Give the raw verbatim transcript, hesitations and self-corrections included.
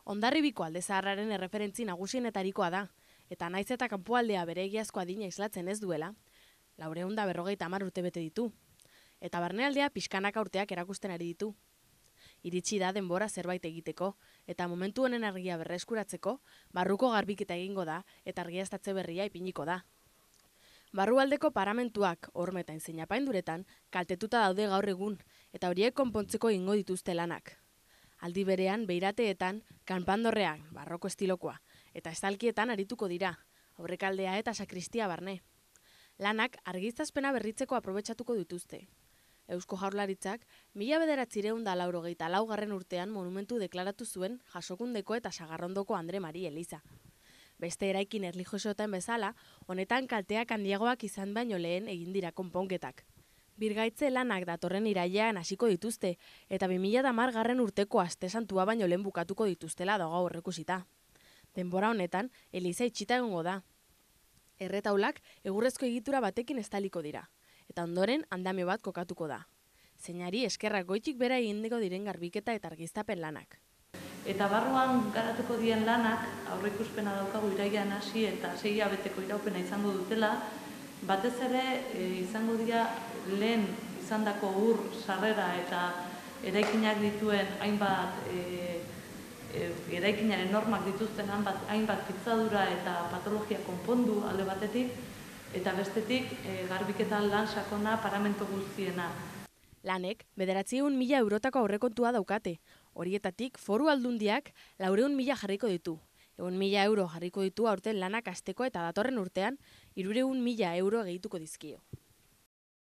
Hondarribiko alde zaharraren erreferentzi nagusienetarikoa da, eta naiz eta kanpoaldea bere egiazko adina islatzen ez duela, laurehun eta berrogeita hamar urte bete ditu, eta barnealdea pixkanaka urteak erakusten ari ditu. Iritsi da denbora zerbait egiteko, eta momentu honen argia berreskuratzeko, barruko garbiketa egingo da, eta argiaztatze berria ipiniko da. Barrualdeko paramentuak, horma eta enseinapainduretan, kaltetuta daude gaur egun, eta horiek konpontzeko egingo dituzte lanak. Aldi berean, beirateetan, kanpandorrean, barroko estilokoa, eta estalkietan arituko dira, aurrekaldea eta sakristia barne. Lanak argiztazpena berritzeko aprobetxatuko dituzte. Eusko Jaurlaritzak, mila bederatziehun eta laurogeita laugarren urtean monumentu deklaratu zuen Jasokundeko eta Sagarrondoko Andre Mari eliza. Beste eraikin erlijiosoetan bezala, honetan kalteak handiagoak izan baino lehen egin dira konponketak. Birgaitze lanak datorren irailean hasiko dituzte, eta bi mila hamargarren urteko aste santua baino lehen bukatuko dituztela dago aurreikusita. Denbora honetan, eliza itxita egongo da. Erretaulak egurrezko egitura batekin estaliko dira, eta ondoren andamio bat kokatuko da. Zeinari eskerrak goitik bera egindeko diren garbiketa eta argiztapen lanak. Eta barruan garatuko dien lanak, aurreikuspena daukagu irailean hasi eta sei hilabeteko iraupena izango dutela, batez ere e, izango dira lehen izandako ur sarrera eta eraikinak dituen hainbat e, e, eraikinaren normak dituzten hainbat, hainbat pitzadura eta patologia konpondu alde batetik, eta bestetik e, garbiketan lan sakona paramento guztiena. Lanek bederatziehun mila eurotako aurrekontua daukate, horietatik foru aldundiak laurehun mila jarriko ditu. Egun mila euro jarriko ditu aurten lanak hasteko eta datorren urtean hirurehun mila euro gehituko dizkio.